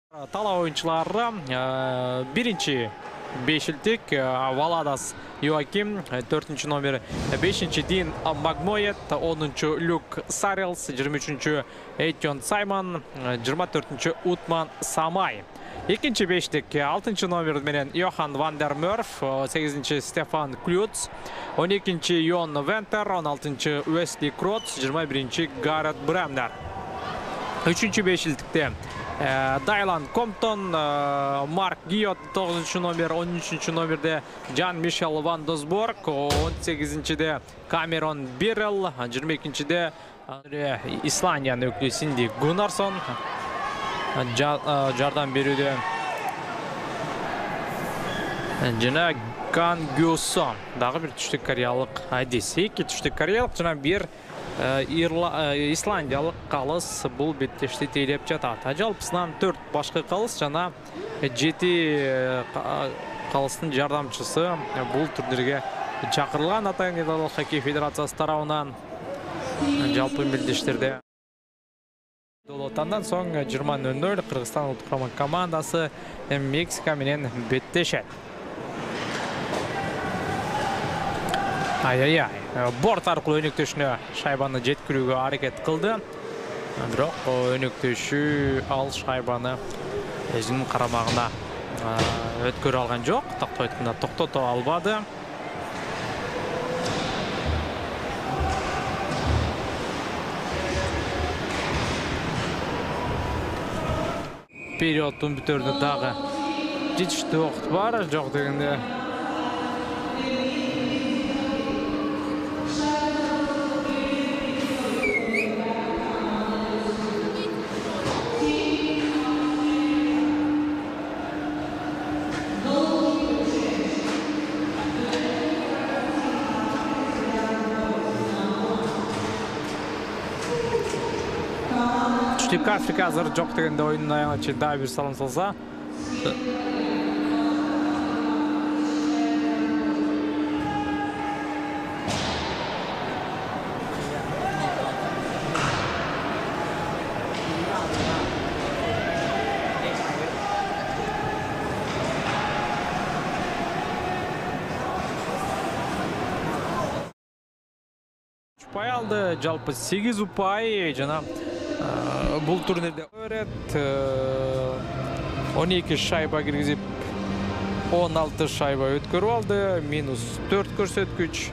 Талаа оюнчулары биринчи бешилтик Валадас Йоаким, 4 номер 5 Дин Магмоет, 10 Люк Сарелс, 23 Эйтон Саймон, 24 Утман Самай. Экинчи бештик 6 номер менен Йохан Вандер Мёрф, 8 Стефан Клюц, 12 Йон Вентер, 16 Уэсли Кроц, 21 Гарет Бремнер. 3 бешилтикте Дайлан Комптон, Марк Гиот 9 номер, 13 номерде Жан Мишел Ван Досборг, 18-де Камерон Бирел, 22-де Исландиянын өкүлү Синди Гуннарсон жардам берүүдө жана Кан Гюсон дагы бир түштүк кореялык Адис. Эки түштүк кореялык жана бир Исландиялык калыс бул беттешти тейлеп жатат. Жалпысынан 4 башкы калыс жана 7 калыстын жардамчысы бул турнирге чакырылган. Атайын Нидерланд хоккей федерациясы тарабынан жалпы мелдештерде Андан соң 20:00 Кыргызстан улуттук құрама командасы Мексика менен беттешет. Ай-яй-яй, борт аркылуу өнөктөшүнө шайбаны жеткирүүгө аракет кылды. Бирок өнөктөшү ал шайбаны өзүнүн карамагына өткөрө алган жок. Тактап айтканда токтото албады. Периоддун бүтөрүнө дагы жетиштүү убакыт бар, жок дегенде. Түштүк Африка азыр жок дегенде оюндун аягына чейин дагы бир салым салса. Упай алды, жалпы 8 упай жана бул турнирде 12 шайба киргизип 16 шайба өткөрүп алды, -4 көрсөткүч.